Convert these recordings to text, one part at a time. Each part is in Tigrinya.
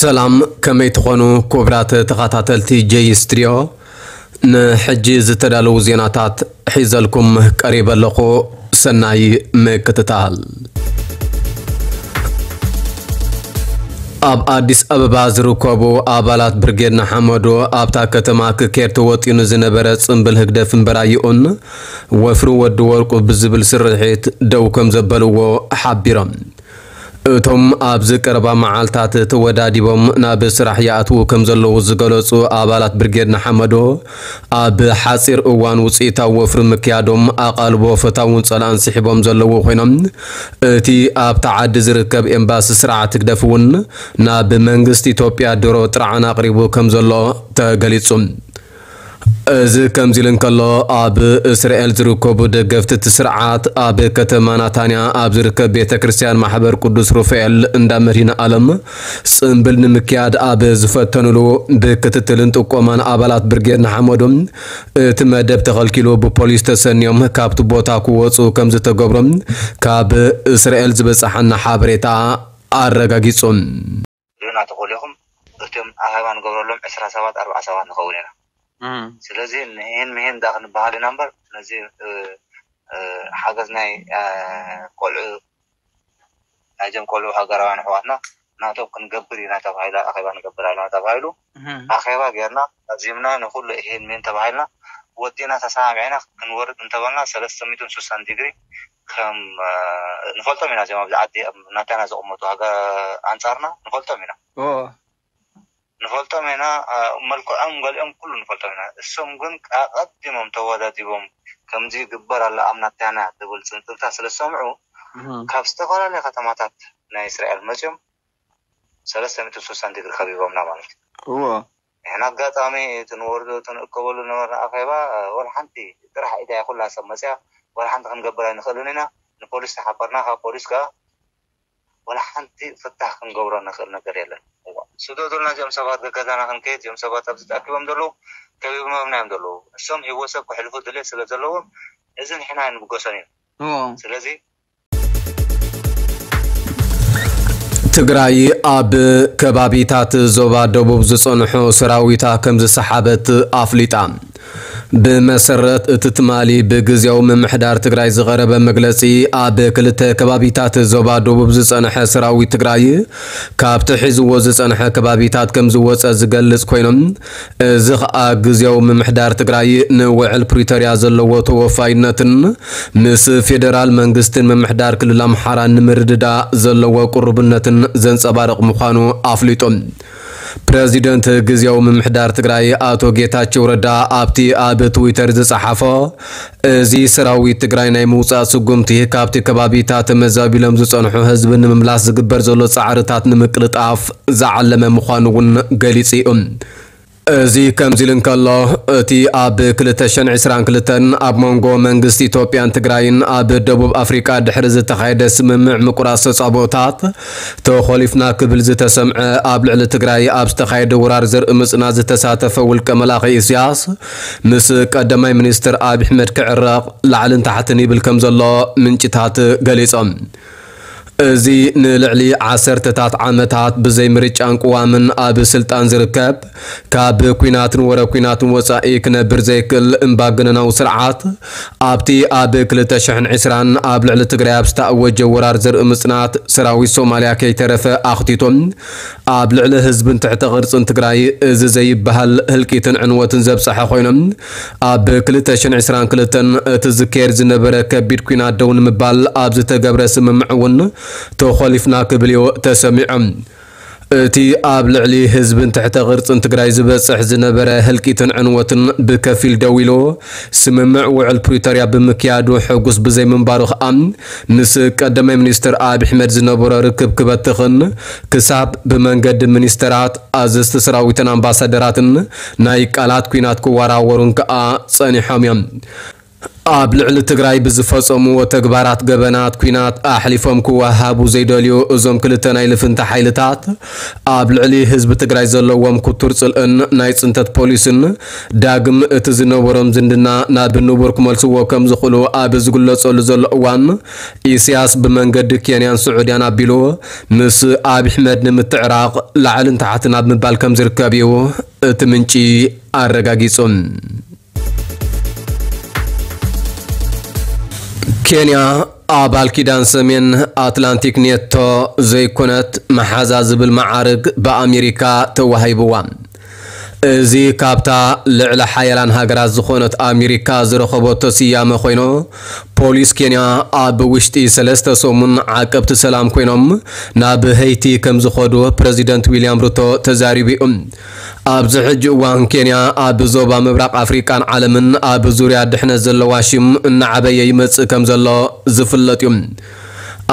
ሰላም፣ ከመይ ትኾኑ ክቡራት ተኸታተልቲ ጄይ ስትሪዮ? ንሕጂ ዝተዳለዉ ዜናታት ሒዘልኩም ቀሪበ ኣለኹ። ሰናይ ምክትታል። ኣብ ኣዲስ ኣበባ ዝርከቡ ኣባላት ብርጌድ ንሓመዱ ኣብታ ከተማ ክኬድ ተወጢኑ ዝነበረ ጽምብል ህግደፍ እምበራይኡን ወፍሪ ወዲ ወርቁ ብዝብል ስርሒት ደው ከም ዘበልዎ ሓቢሮም። እቶም ኣብዚ ቀረባ መዓልታት ተወዳዲቦም ናብ ስራሕ ይኣትዉ ከም ዘለዉ ዝገለጹ ኣባላት ብርጌድ ንሓመዶ፣ ኣብ ሓጺር እዋን ውጽኢታዊ ወፍሪ ምክያዶም ኣቓልቦ ፈታውን ጸላእን ስሒቦም ዘለዉ ኮይኖም፣ እቲ ኣብታ ዓዲ ዝርከብ ኤምባሲ ስርዓት ህግደፍ እውን ናብ መንግስቲ ኢትዮጵያ ድሮ ጥርዓን ኣቕሪቡ ከም ዘሎ ተገሊጹ። እዚ ከምዚ ኢሉ እንከሎ፣ ኣብ እስራኤል ዝርከቡ ደገፍቲ እቲ ስርዓት ኣብ ከተማ ናታንያ ኣብ ዝርከብ ቤተ ክርስቲያን ማሕበር ቅዱስ ሩፋኤል እንዳ መድኃኔ ዓለም ጽምብል ንምክያድ ኣብ ዝፈተኑሉ፣ ብክትትልን ጥቆማን ኣባላት ብርጌድ ንሓመዱ እቲ መደብ ተኸልኪሉ ብፖሊስ ተሰንዮም ካብቲ ቦታ ክወጹ ከም ዝተገብሮም ካብ እስራኤል ዝበጽሓና ሓበሬታ ኣረጋጊጹ። ርኢና ተኾሊኹም እቶም ኣኼባ ንገብረሎም ዕስራ ሰባት፣ ኣርብዓ ሰባት ንኸውን ኢና። እም። ስለዚ ንህን ምሂን ዳ ክንበሃል ኢና እምበር፣ ስለዚ፣ እ፣ እ፣ ሓገዝ ናይ፣ እ፣ ቆልዑ፣ ናይዞም ቆልዑ ሃገራውያን ኣሕዋትና ናቶም ክንገብር ኢና ተባሂላ፣ ኣኼባ ንገብር ኣለና ተባሂሉ። እም። ኣኼባ ጌርና፣ ኣዚምና፣ ንኹሉ ይሄን ሜን ተባሂልና፣ ወዲእና ተሰማሚዕና ክንወርድ እንተበልና፣ ሰለስተ ሚእትን ስሳን ዲግሪ ከም፣ እ፣ ንፈልጦም ኢና። እዚኦም ኣብዚ ዓዲ፣ ኣብ ናታና ዝቕመጡ ሃገ-፣ ኣንጻርና ንፈልጦም ኢና። ኦ። ንፈልጦም ኢና፣ እ፣ መልክዖም ገሊኦም ኩሉ ንፈልጦም ኢና። እሶም ግን ኣቐዲሞም ተወዳዲቦም፣ ከምዚ ይግበር ኣሎ ኣብ ናታና ዝብል ጽንጽልታ ስለ ዝሰምዑ፣ እህ። ካብ ዝተፈላለያ ከተማታት ናይ እስራኤል መጺኦም፣ ሰለስተ ሚእትን ስሳን ዲግሪ ከቢቦምና ማለት እዩ። እዎ። ንሕና ኣጋጣሚ እቲ ንወርዶ፣ እቲ ንእከበሉ ነበርና ኣኼባ፣ ወላ ሓንቲ ጥራሕ ኢዳ እያ ኩላ ሰብ መጽያ፣ ወላ ሓንቲ ክንገብር ኣይንኽእልን ኢና። ንፖሊስ ተሓበርና፣ ካብ ፖሊስ ከኣ ወላ ሓንቲ ፍታሕ ክንገብሮ ንኽእል ነገር የለን። እዋ፣ ስደዱልና እዚኦም ሰባት፣ ገገዛና ክንከይድ፣ እዚኦም ሰባት ኣብዚ ተኣኪቦም ዘለዉ፣ ከቢቦምና እዮም ዘለዉ። እሶም ህይወት ሰብ ከሕልፉ ድሌት ስለ ዘለዎም፣ እዚ ንሕና ኣይንብገሶን ኢና። እዎ። ስለዚ ትግራይ ኣብ ከባቢታት ዞባ ደቡብ ዝጸንሑ ሰራዊታ ከም ዝሰሓበት ኣፍሊጣ። ብመሰረት እቲ ትማሊ ብግዜያዊ ምምሕዳር ትግራይ ዝቐረበ መግለጺ፣ ኣብ ክልተ ከባቢታት ዞባ ደቡብ ዝጸንሐ ሰራዊት ትግራይ ካብቲ ሒዝዎ ዝጸንሐ ከባቢታት ከም ዝወጸ ዝገልጽ ኮይኖም፣ እዚ ኸኣ ግዜያዊ ምምሕዳር ትግራይ ንውዕል ፕሪቶርያ ዘለዎ ተወፋይነትን ምስ ፌደራል መንግስትን ምምሕዳር ክልል ኣምሓራ ንምርድዳእ ዘለዎ ቅሩብነትን ዘንጸባርቕ ምዃኑ ኣፍሊጡ። ፕረዚደንት ግዜያዊ ምምሕዳር ትግራይ ኣቶ ጌታቸው ረዳ ኣብቲ ኣብ ትዊተር ዝጸሓፎ፣ እዚ ሰራዊት ትግራይ ናይ ምውጻእ ስጉምቲ ካብቲ ከባቢታት ተመዛቢሎም ዝጸንሑ ህዝቢ ንምምላስ ዝግበር ዘሎ ጻዕርታት ንምቅልጣፍ ዝዓለመ ምዃኑ እውን ገሊጹ እዩ። እዚ ከምዚ ኢሉ እንከሎ፣ እቲ ኣብ ክልተ ሽሕን ዕስራን ክልተን ኣብ መንጎ መንግስቲ ኢትዮጵያን ትግራይን ኣብ ደቡብ ኣፍሪቃ ድሕሪ ዝተኻየደ ስምምዕ ምቁራጽ ተጻብኦታት ተኾሊፍና ክብል ዝተሰምዐ፣ ኣብ ልዕሊ ትግራይ ኣብ ዝተኻየደ ወራር ዘርኢ ምጽናት ዝተሳተፈ ውልቀ መላኺ ኢሳያስ ምስ ቀዳማይ ሚኒስትር ኣብይ ኣሕመድ ክዕረቕ ላዕልን ታሕትን ይብል ከም ዘሎ ምንጭታት ገሊጾም። እዚ ንልዕሊ ዓሰርተታት ዓመታት ብዘይ ምርጫን ቅዋምን ኣብ ስልጣን ዝርከብ፣ ካብ ኲናትን ወረ ኲናትን ወጻኢ ክነብር ዘይክእል እምባገነናዊ ስርዓት፣ ኣብቲ ኣብ ክልተ ሽሕን ዕስራን ኣብ ልዕሊ ትግራይ ኣብ ዝተኣወጀ ወራር ዘርኢ ምጽናት፣ ሰራዊት ሶማልያ ከይተረፈ ኣኽቲቶም፣ ኣብ ልዕሊ ህዝብን ትሕተ ቅርጽን ትግራይ እዚ ዘይበሃል ህልቂትን ዕንወትን ዘብጽሐ ኮይኖም፣ ኣብ ክልተ ሽሕን ዕስራን ክልተን እቲ ዝካየድ ዝነበረ ከቢድ ኲናት ደው ንምባል ኣብ ዝተገብረ ስምምዕ እውን ተኾሊፍና ክብል እዩ ተሰሚዖም። እቲ ኣብ ልዕሊ ህዝብን ትሕተ ቅርጽን ትግራይ ዝበጽሕ ዝነበረ ህልቂትን ዕንወትን ብከፊል ደው ኢሉ፣ ስምምዕ ውዕል ፕሪቶርያ ብምክያዱ ሕጉስ ብዘይምንባሩ ከኣ፣ ምስ ቀዳማይ ሚኒስትር ኣብይ ኣሕመድ ዝነበሮ ርክብ ክበትኽን፣ ክሳብ ብመንገዲ ሚኒስተራት፣ ኣዘዝቲ ሰራዊትን ኣምባሳደራትን ናይ ቃላት ኲናት ክወራወሩን ከኣ ጸኒሖም እዮም። ኣብ ልዕሊ ትግራይ ብዝፈጸምዎ ተግባራት ገበናት ኲናት ኣሕሊፎም ክወሃቡ ዘይደልዩ እዞም ክልተ ናይ ልፍንቲ ሓይልታት፣ ኣብ ልዕሊ ህዝቢ ትግራይ ዘለዎም ክቱር ጽልእን ናይ ጽንተት ፖሊስን፣ ዳግም እቲ ዝነበሮም ዝምድና ናብ ንቡር ክመልስዎ ከም ዝኽእሉ ኣብ ዝግለጸሉ ዘሎ እዋን፣ ኢሳያስ ብመንገዲ ኬንያን ስዑድያን ኣቢሉ ምስ ኣብይ ኣሕመድ ንምትዕራቕ ላዕልን ታሕትን ኣብ ምባል ከም ዝርከብ እዩ እቲ ምንጪ ኣረጋጊጹ። ኬንያ ኣባል ኪዳን ሰሜን ኣትላንቲክ ኔቶ ዘይኮነት መሓዛ ዝብል መዓርግ ብኣሜሪካ ተዋሂብዋ። እዚ ካብታ ልዕለ ሓያላን ሃገራት ዝኾነት ኣሜሪካ ዝረኸበቶ ስያመ ኮይኑ፣ ፖሊስ ኬንያ ኣብ ውሽጢ ሰለስተ ሰሙን ዓቀብቲ ሰላም ኮይኖም ናብ ሀይቲ ከም ዝኸዱ ፕረዚደንት ዊልያም ሩቶ ተዛሪቡ እዩ። ኣብዚ ሕጂ እዋን ኬንያ ኣብ ዞባ ምብራቕ ኣፍሪቃን ዓለምን ኣብ ዙርያ ድሕነት ዘለዋ ሽም እናዓበየ ይመጽእ ከም ዘሎ ዝፍለጥ እዩ።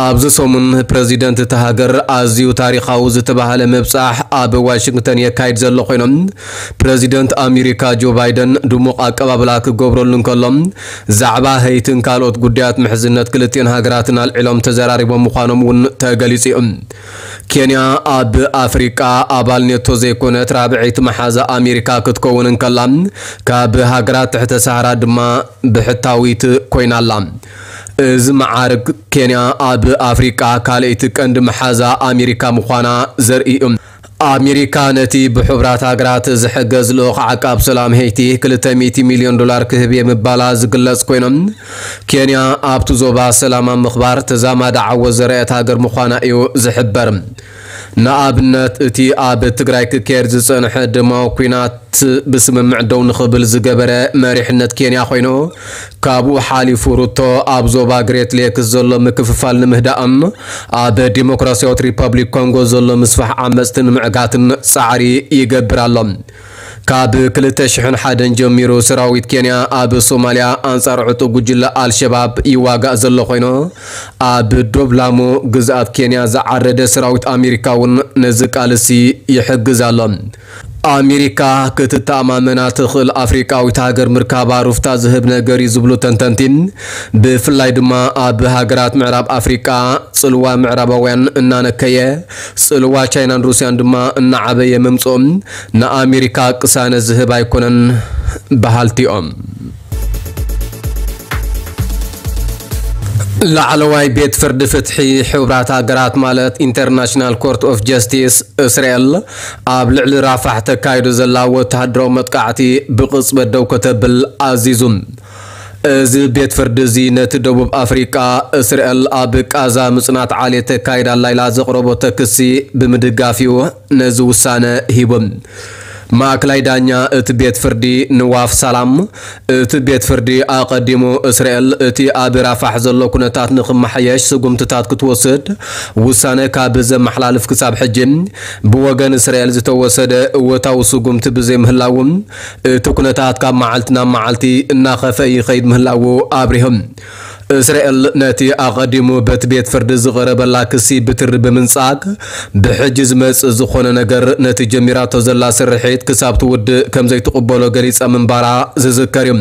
ኣብዚ ሰሙን ፕረዚደንት እታ ሃገር ኣዝዩ ታሪኻዊ ዝተባህለ ምብጻሕ ኣብ ዋሽንግተን የካይድ ዘሎ ኮይኖም፣ ፕረዚደንት ኣሜሪካ ጆ ባይደን ድሙቕ ኣቀባብላ ክገብረሉ እንከሎ፣ ዛዕባ ሀይትን ካልኦት ጉዳያት ምሕዝነት ክልቲኦን ሃገራትን ኣልዒሎም ተዘራሪቦም ምዃኖም እውን ተገሊጹ እዩ። ኬንያ ኣብ ኣፍሪቃ ኣባል ኔቶ ዘይኮነት ራብዐይቲ መሓዛ ኣሜሪካ ክትከውን እንከላ፣ ካብ ሃገራት ትሕተ ሰሃራ ድማ ብሕታዊት ኮይና ኣላ። እዚ መዓርግ ኬንያ ኣብ ኣፍሪቃ ካልኣይቲ ቀንዲ መሓዛ ኣሜሪካ ምዃና ዘርኢ እዩ። ኣሜሪካ ነቲ ብሕቡራት ሃገራት ዝሕገዝ ልኡኽ ዓቃብ ሰላም ሄይቲ ክልተ ሚእቲ ሚልዮን ዶላር ክህብ እየ ምባላ ዝግለጽ ኮይኖም፣ ኬንያ ኣብቲ ዞባ ሰላም ኣብ ምኽባር ተዛማዲ ዓወት ዘርኣየት ሃገር ምዃና እዩ ዝሕበር። ንኣብነት፣ እቲ ኣብ ትግራይ ክካየድ ዝጸንሐ ደማዊ ኲናት ብስምምዕ ደው ንኽብል ዝገበረ መሪሕነት ኬንያ ኮይኑ፣ ካብኡ ሓሊፉ ሩቶ ኣብ ዞባ ግሬት ሌክስ ዘሎ ምክፍፋል ንምህዳእን ኣብ ዲሞክራሲያዊት ሪፐብሊክ ኮንጎ ዘሎ ምስፋሕ ዓመፅቲ ንምዕጋትን ፃዕሪ ይገብር ኣሎ። ካብ ክልተ ሽሕን ሓደን ጀሚሩ ሰራዊት ኬንያ ኣብ ሶማልያ ኣንፃር ዕጡብ ጉጅለ ኣልሸባብ ይዋጋእ ዘሎ ኮይኑ፣ ኣብ ዶብ ላሙ ግዝኣት ኬንያ ዝዓረደ ሰራዊት ኣሜሪካ እውን ነዚ ቃልሲ ይሕግዝ ኣሎ። ኣሜሪካ ክትተኣማመና ትኽእል ኣፍሪቃዊት ሃገር ምርካባ ሩፍታ ዝህብ ነገር እዩ ዝብሉ ተንተንቲ፣ ብፍላይ ድማ ኣብ ሃገራት ምዕራብ ኣፍሪቃ ጽልዋ ምዕራባውያን እናነከየ፣ ጽልዋ ቻይናን ሩስያን ድማ እናዓበየ ምምጽኦም ንኣሜሪካ ቅሳነ ዝህብ ኣይኮነን በሃልቲ እዮም። ላዕለዋይ ቤት ፍርዲ ፍትሒ ሕቡራት ሃገራት ማለት ኢንተርናሽናል ኮርት ኦፍ ጀስቲስ እስራኤል ኣብ ልዕሊ ራፋሕ ተካይዶ ዘላ ወተሃደራዊ መጥቃዕቲ ብቕጽበት ደው ከተብል ኣዚዙ። እዚ ቤት ፍርዲ እዚ ነቲ ደቡብ ኣፍሪቃ እስራኤል ኣብ ቃዛ ምጽናት ዓሌት ተካይዳ ኣላ ኢላ ዘቕረበቶ ክሲ ብምድጋፍ እዩ ነዚ ውሳነ ሂቡ። ማእከላይ ዳኛ እቲ ቤት ፍርዲ ንዋፍ ሳላም፣ እቲ ቤት ፍርዲ ኣቐዲሙ እስራኤል እቲ ኣብ ራፋሕ ዘሎ ኩነታት ንኽመሓየሽ ስጉምትታት ክትወስድ ውሳነ ካብ ዘመሓላልፍ ክሳብ ሕጂ ብወገን እስራኤል ዝተወሰደ እወታዊ ስጉምቲ ብዘይምህላዉ፣ እቲ ኩነታት ካብ መዓልቲ ናብ መዓልቲ እናኸፈ ይኸይድ ምህላዉ ኣብሪሆም። እስራኤል ነቲ ኣቐዲሙ በቲ ቤት ፍርዲ ዝቐረበላ ክሲ ብትሪ ብምንጻግ፣ ብሕጂ ዝመጽእ ዝኾነ ነገር ነቲ ጀሚራቶ ዘላ ስርሒት ክሳብ ትውድእ ከም ዘይትቕበሎ ገሊጻ ምንባራ ዝዝከር እዩ።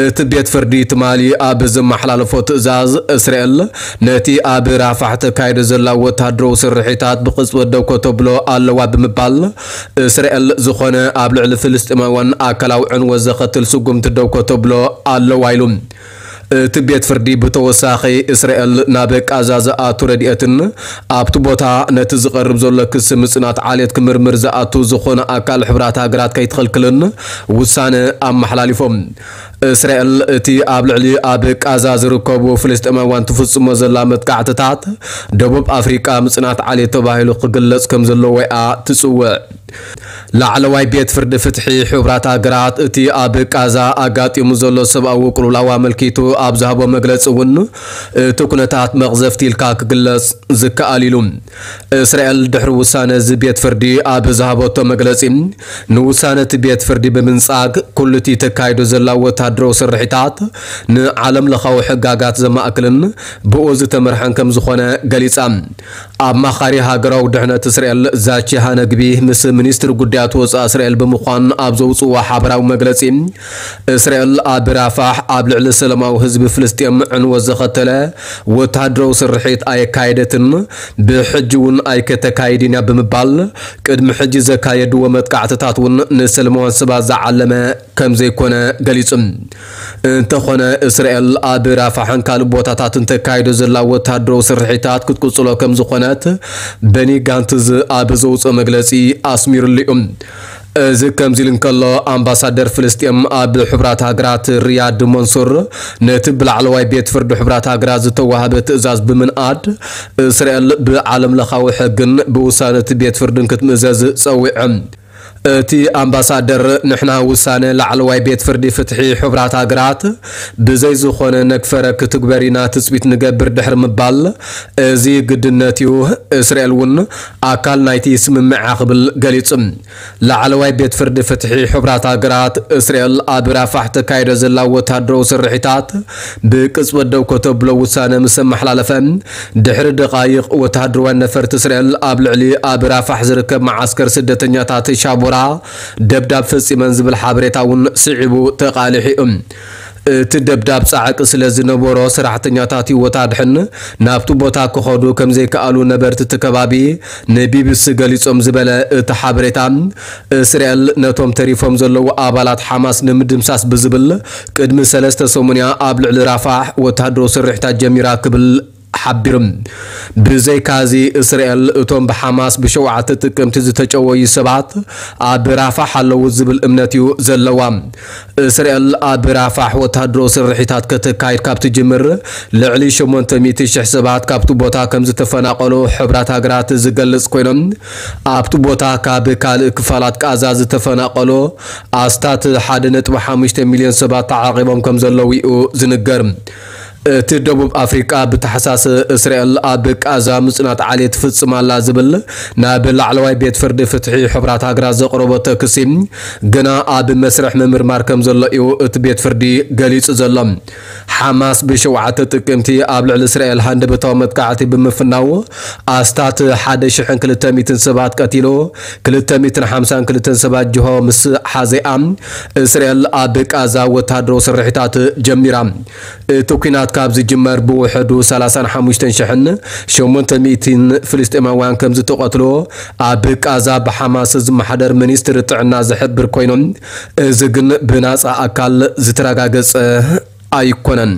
እቲ ቤት ፍርዲ ትማሊ ኣብ ዘመሓላለፎ ትእዛዝ፣ እስራኤል ነቲ ኣብ ራፋሕ ተካይዶ ዘላ ወተሃደራዊ ስርሒታት ብቕጽበት ደው ከተብሎ ኣለዋ ብምባል፣ እስራኤል ዝኾነ ኣብ ልዕሊ ፍልስጤማውያን ኣካላዊ ዕንወት ዘኸትል ስጉምቲ ደው ከተብሎ ኣለዋ ኢሉ። እቲ ቤት ፍርዲ ብተወሳኺ፣ እስራኤል ናብ ቃዛ ዝኣቱ ረድኤትን ኣብቲ ቦታ ነቲ ዝቐርብ ዘሎ ክሲ ምጽናት ዓሌት ክምርምር ዝኣቱ ዝኾነ ኣካል ሕቡራት ሃገራት ከይትኸልክልን ውሳነ ኣመሓላሊፎም። እስራኤል እቲ ኣብ ልዕሊ ኣብ ቃዛ ዝርከቡ ፍልስጤማውያን ትፍጽሞ ዘላ መጥቃዕትታት ደቡብ ኣፍሪቃ ምጽናት ዓሌት ተባሂሉ ክግለጽ ከም ዘለዎ እያ ትጽውዕ። ላዕለዋይ ቤት ፍርዲ ፍትሒ ሕቡራት ሃገራት እቲ ኣብ ቃዛ ኣጋጢሙ ዘሎ ሰብኣዊ ቅልውላው ኣመልኪቱ ኣብ ዝሃቦ መግለጺ እውን፣ እቲ ኩነታት መቕዘፍቲ ኢልካ ክግለጽ ዝከኣል ኢሉ። እስራኤል ድሕሪ ውሳነ እዚ ቤት ፍርዲ ኣብ ዝሃበቶ መግለጺ፣ ንውሳነ እቲ ቤት ፍርዲ ብምንጻግ፣ ኩሉ እቲ ተካይዶ ዘላ ወተሃደራዊ ስርሒታት ንዓለም ለኻዊ ሕጋጋት ዘማእክልን ብኡ ዝተመርሐን ከም ዝኾነ ገሊጻ። ኣማኻሪ ሃገራዊ ድሕነት እስራኤል ዛቺ ሃነግቢ ምስ ሚኒስትሪ ጉዳይ ጉዳያት ወፃኢ እስራኤል ብምዃን ኣብ ዘውፅዎ ሓበራዊ መግለፂ፣ እስራኤል ኣብ ራፋሕ ኣብ ልዕሊ ሰላማዊ ህዝቢ ፍልስጤም ዕንወት ዘኸተለ ወታደራዊ ስርሒት ኣየካየደትን፣ ብሕጂ እውን ኣይከተካይድን እያ ብምባል፣ ቅድሚ ሕጂ ዘካየድዎ መጥቃዕትታት እውን ንሰለማውያን ሰባት ዝዓለመ ከም ዘይኮነ ገሊጹ። እንተኾነ፣ እስራኤል ኣብ ራፋሕን ካልእ ቦታታትን ተካይዶ ዘላ ወታደራዊ ስርሒታት ክትቅጽሎ ከም ዝኾነት በኒ ጋንትዝ ኣብ ዘውፅኦ መግለጺ ኣስሚሩሉ እዩ። እዚ ከምዚ ኢሉ እንከሎ፣ ኣምባሳደር ፍልስጤም ኣብ ሕቡራት ሃገራት ሪያድ መንሱር ነቲ ብላዕለዋይ ቤት ፍርዲ ሕቡራት ሃገራት ዝተዋህበ ትእዛዝ ብምንኣድ፣ እስራኤል ብዓለም ለኻዊ ሕግን ብውሳነ እቲ ቤት ፍርድን ክትምእዘዝ ጸዊዑ። እቲ ኣምባሳደር፣ ንሕና ውሳነ ላዕለዋይ ቤት ፍርዲ ፍትሒ ሕቡራት ሃገራት ብዘይ ዝኾነ ነግፈረ ክትግበር ኢና ትጽቢት ንገብር ድሕሪ ምባል፣ እዚ ግድነት እዩ፣ እስራኤል እውን ኣካል ናይቲ ስምምዕ እያ ክብል ገሊጹ። ላዕለዋይ ቤት ፍርዲ ፍትሒ ሕቡራት ሃገራት፣ እስራኤል ኣብ ራፋሕ ተካይዶ ዘላ ወታደራዊ ስርሒታት ብቅጽበት ደው ከተብሎ ውሳነ ምስ ኣመሓላለፈ፣ ድሕሪ ደቓይቕ ወታደራውያን ነፈርቲ እስራኤል ኣብ ልዕሊ ኣብ ራፋሕ ዝርከብ መዓስከር ስደተኛታት ሻቦራ ደብዳብ ፈጺመን ዝብል ሓበሬታ እውን ስዒቡ ተቓሊሑ እዩ። እቲ ደብዳብ ጻዕቂ ስለ ዝነበሮ፣ ሰራሕተኛታት ህይወት ኣድሕን ናብቲ ቦታ ክኸዱ ከም ዘይከኣሉ ነበርቲ እቲ ከባቢ ንቢቢሲ ገሊጾም ዝበለ እቲ ሓበሬታ፣ እስራኤል ነቶም ተሪፎም ዘለዉ ኣባላት ሓማስ ንምድምሳስ ብዝብል ቅድሚ ሰለስተ ሰሙንያ ኣብ ልዕሊ ራፋሕ ወታደራዊ ስርሒታት ጀሚራ ክብል ሓቢሩ። ብዘይካዚ፣ እስራኤል እቶም ብሓማስ ብሸውዓተ ጥቅምቲ ዝተጨወዩ ሰባት ኣብ ራፋሕ ኣለዉ ዝብል እምነት እዩ ዘለዋ። እስራኤል ኣብ ራፋሕ ወታደራዊ ስርሒታት ከተካይድ ካብ ትጅምር፣ ልዕሊ ሸሞንተ ሚእቲ ሽሕ ሰባት ካብቲ ቦታ ከም ዝተፈናቐሉ ሕቡራት ሃገራት ዝገልጽ ኮይኖም፣ ኣብቲ ቦታ ካብ ካልእ ክፋላት ቃዛ ዝተፈናቐሉ ኣስታት ሓደ ነጥቢ ሓሙሽተ ሚልዮን ሰባት ተዓቒቦም ከም ዘለዉ እዩ ዝንገር። እቲ ደቡብ ኣፍሪቃ ብታሕሳስ እስራኤል ኣብ ቃዛ ምጽናት ዓሌት ትፍጽም ኣላ ዝብል ናብ ላዕለዋይ ቤት ፍርዲ ፍትሒ ሕቡራት ሃገራት ዘቕረቦ ክሲ ግና ኣብ መስርሕ ምምርማር ከም ዘሎ እዩ እቲ ቤት ፍርዲ ገሊጹ ዘሎ። ሓማስ ብሸውዓተ ጥቅምቲ ኣብ ልዕሊ እስራኤል ሃንደበታዊ መጥቃዕቲ ብምፍናው ኣስታት ሓደ ሽሕን ክልተ ሚእትን ሰባት ቀቲሉ፣ ክልተ ሚእትን ሓምሳን ክልተን ሰባት ጅሆ ምስ ሓዘኣ፣ እስራኤል ኣብ ቃዛ ወታደራዊ ስርሒታት ጀሚራ። እቲ ኲናት ካብ ዝጅመር ብውሕዱ ሰላሳን ሓሙሽተን ሽሕን ሸሞንተ ሚእትን ፍልስጤማውያን ከም ዝተቐትሉ ኣብ ቃዛ ብሓማስ ዝመሓደር ሚኒስትሪ ጥዕና ዝሕብር ኮይኑ፣ እዚ ግን ብናጻ ኣካል ዝተረጋገጸ ኣይኮነን።